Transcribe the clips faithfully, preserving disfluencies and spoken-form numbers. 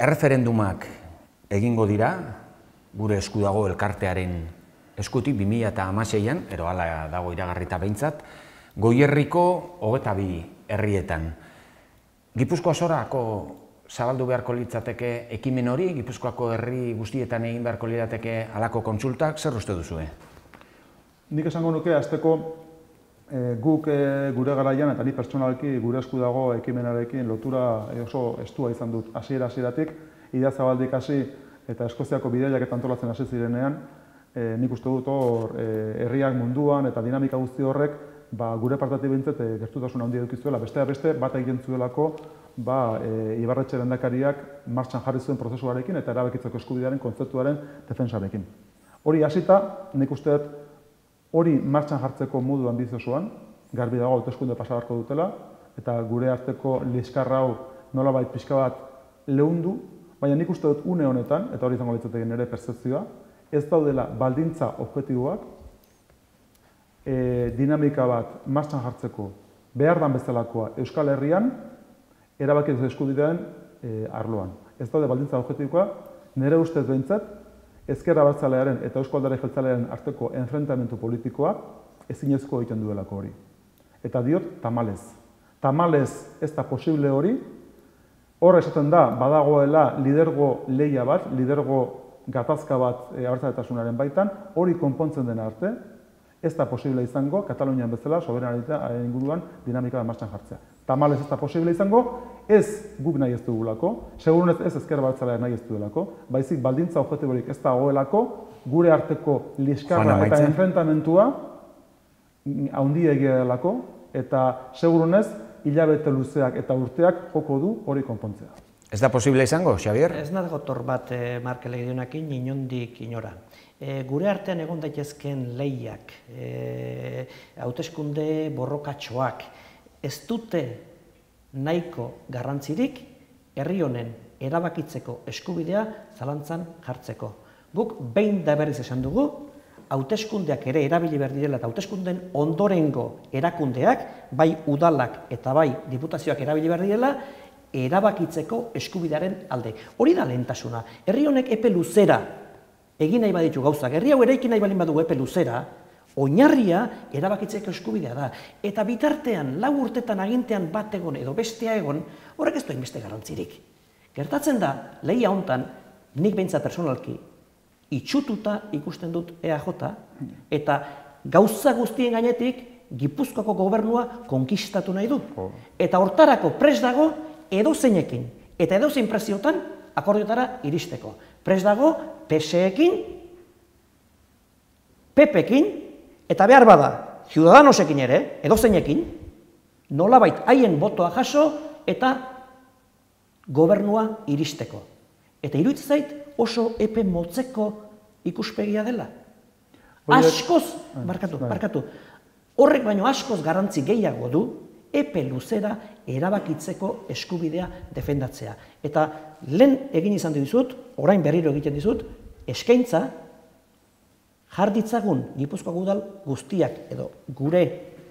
Erreferendumak egingo dira, gure esku dago elkartearen eskutik bi mila hamaseian, ero hala dago iragarrita behintzat, Goierriko hogeita bi herrietan. Gipuzkoa zorako zabaldu beharko litzateke ekimen hori, Gipuzkoako herri guztietan egin beharko lirateke halako kontsultak, zer uste duzue? Nik esango nuke, azteko guk gure garaian eta ni pertsonalki gure esku dago ekimenarekin lotura oso estua izan dut hasiera hasieratik, Idiazabaldik hasi eta Eskoziako bidaiak eta antolatzen hasi zirenean, nik uste dut hor herriak munduan eta dinamika guzti horrek gure partetik behintzat gertutasun handia eduki zuela, besteak beste bat egiten zuelako Ibarretxe lehendakariak martxan jarri zuen prozesuarekin eta erabakitzeko eskubidearen kontzeptuaren defentsarekin. Hori hasita, nik uste dut hori martxan jartzeko modu ambiziosoan, garbi dago hauteskunde pasa beharko dutela, eta gure arteko liskarra hau nolabait pixka bat leundu, baina nik uste dut une honetan, eta hori izango litzateke nire pertzepzioa, ez daudela baldintza objektiboak, dinamika bat martxan jartzeko behar dan bezalakoa Euskal Herrian, erabakitzeko eskubidearen arloan. Ez daude baldintza objektiboa, nire ustez behintzat, Ezker Abertzalearen eta Euzko Alderdi Jeltzalearen arteko enfrentamendu politikoa ezinezko egiten duelako hori. Eta diot, tamalez. Tamalez ez da posible hori, hor esaten da, badagoela lidergo lehia bat, lidergo gatazka bat abertzaletasunaren baitan, hori konpontzen dena arte, ez da posible izango, Katalunian bezala, soberanitatearen inguruan dinamika bat martxan jartzea. Tamalez ez da posible izango, ez guk nahi ez dugulako, segurunez ez Ezker Abertzaleak nahi ez duelako, baizik baldintza objektiborik ez dagoelako, gure arteko liskarra eta enfrentamentua handiegia delako, eta segurunez hilabete luzeak eta urteak joko du hori konpontzea. Ez da posible izango, Xabier? Ez nago gotor bat Markel egidionakin, inondik inora. Gure artean egon daitezken lehiak, hauteskunde borrokatxoak, ez dute nahiko garrantzirik herri honen erabakitzeko eskubidea zalantzan jartzeko. Guk behin da berriz esan dugu, hauteskundeak ere erabili behar direla eta hauteskunden ondorengo erakundeak, bai udalak eta bai diputazioak erabili behar direla, erabakitzeko eskubidearen alde. Hori da lehentasuna. Herri honek epe luzera egin nahi baditu gauzak, herri hau eraiki nahi balin badugu epe luzera, oinarria erabakitzeko eskubidea da. Eta bitartean, lau urtetan agintean bat egon edo bestea egon, horrek ez du hainbeste garrantzirik. Gertatzen da, lehia hontan, nik behintzat personalki, itxututa ikusten dut E A J, eta gauza guztien gainetik, Gipuzkoako gobernua konkistatu nahi du. Eta hortarako prest dago edozeinekin, eta edozein preziotan akordiotara iristeko. Prest dago P S E-ekin, P P-ekin, eta behar bada, Ciudadanosekin ere, edozeinekin, nolabait haien botoa jaso eta gobernua iristeko. Eta iruditzen zait oso epe motzeko ikuspegia dela. Askoz, barkatu, barkatu, horrek baino askoz garrantzi gehiago du, epe luzera erabakitzeko eskubidea defendatzea. Eta lehen egin izan dizut, orain berriro egiten dizut, eskaintza jarditzagun Gipuzkoako udal guztiak, edo gure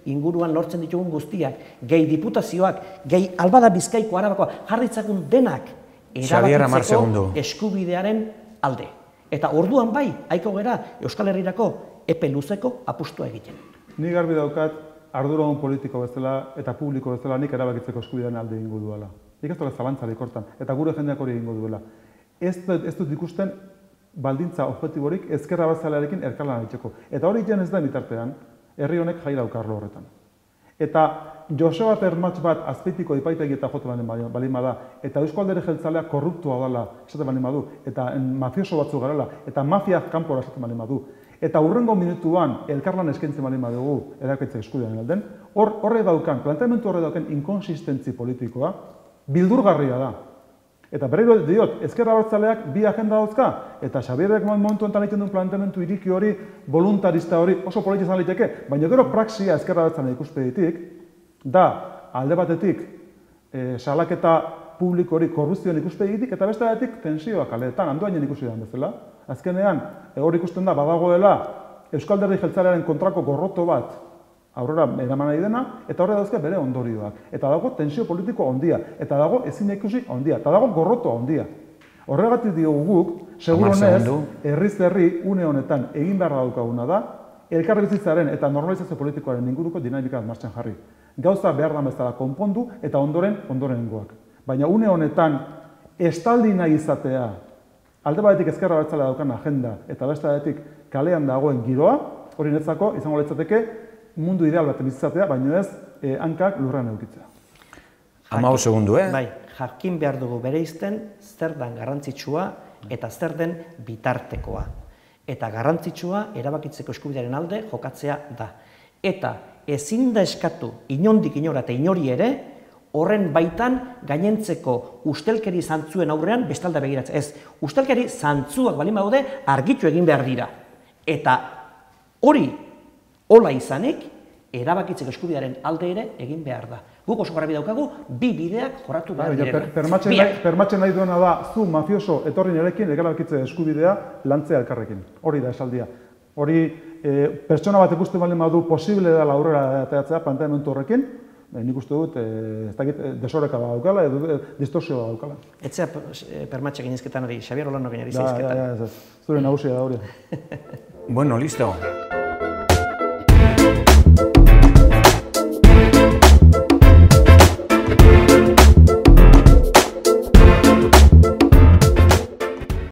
inguruan lortzen ditugun guztiak, gehi diputazioak, gehi albada Bizkaiko Arabakoa, jarditzagun denak erabakitzeko eskubidearen alde. Eta orduan bai, haiko gera Euskal Herrirako epe luzeko apustua egiten. Ni garbi daukat, arduradun politiko bezala eta publiko bezala nik erabakitzeko eskubidearen alde egingo duela. Nik ez dut zalantzarik hortan, eta gure jendeak hori egingo duela. Ez dut ikusten baldintza objektiborik Ezker Abertzalearekin elkarlana egiteko. Eta hori jen ez da bitartean, herri honek jai daukarlo horretan. Eta Joseba Permatx bat azpeitiko epaitegi eta jote balin bada, eta Euzko Alderdi Jeltzalea korruptua dela esaten balin badu, eta mafioso batzu garela, eta mafiak kanpora esaten balin badu, eta hurrengo minutuan elkarlan eskaintzen balin badugu erabakitze eskubidearen alden, horre daukan, planteamendu horre daukan inkonsistentzi politikoa, bildurgarria da. Eta berriro diot, Ezker Abertzaleak bi agenda dauzka, eta Xabierrek momentu enten egiten duen planteamendu iriki hori, voluntarista hori, oso politia izan liteke, baina gero praxia Ezker Abertzaleak ikuspegitik, da alde batetik salaketa publiko hori korrupzioan ikuspegitik, eta beste batetik tensioak kaleetan, handoainen ikusi da bezala. Azkenean, hor ikusten da, badagoela Euskal Alderdi Jeltzalearen kontrako gorroto bat aurrera eraman nahi dena, eta horre dauzke bere ondorioak. Eta dago tensio politiko ondia, eta dago ezin ikusi ondia, eta dago gorroto ondia. Horregatik diogu guk, seguronez, herriz herri une honetan egin behar daukaguna da, elkarbizitzaren eta normalizazio politikoaren inguruko dinamika martxan jarri. Gauza behar da bezala konpondu eta ondoren ondorengoak. Baina une honetan estaldi nahi izatea, alde batetik ezkerra abertzalea daukan agenda eta beste batetik kalean dagoen giroa, hori netzako izango litzateke mundu ideal baten bizitzatea, baino ez eh, hankak lurrean edukitzea. Hamao segundu, eh? Bai, jakin behar dugu bereizten zer den garrantzitsua eta zer den bitartekoa. Eta garrantzitsua erabakitzeko eskubidearen alde jokatzea da. Eta ezin da eskatu inondik inora eta inori ere, horren baitan gainentzeko ustelkeri zantzuen aurrean bestalda begiratzea. Ez, ustelkeri zantzuak balin badaude argitu egin behar dira. Eta hori hola izanik, erabakitzeko eskubidearen alde ere egin behar da. Guk oso garbi daukagu, bi bideak jorratu behar direla. Permatzen nahi duena da, zu mafioso etorri nirekin erabakitze eskubidea lantzea elkarrekin. Hori da esaldia. Hori pertsona bat ikusten baldin badu posible dela aurrera ateratzea planteamendu horrekin, nik uste dut, ez dakit, desoreka bat daukala, edo distorsio bat daukala. Etzea permatxe ginezketan hori, Xabier Olano ginari zeizketan. Zure nagusia da hori. Bueno, listo.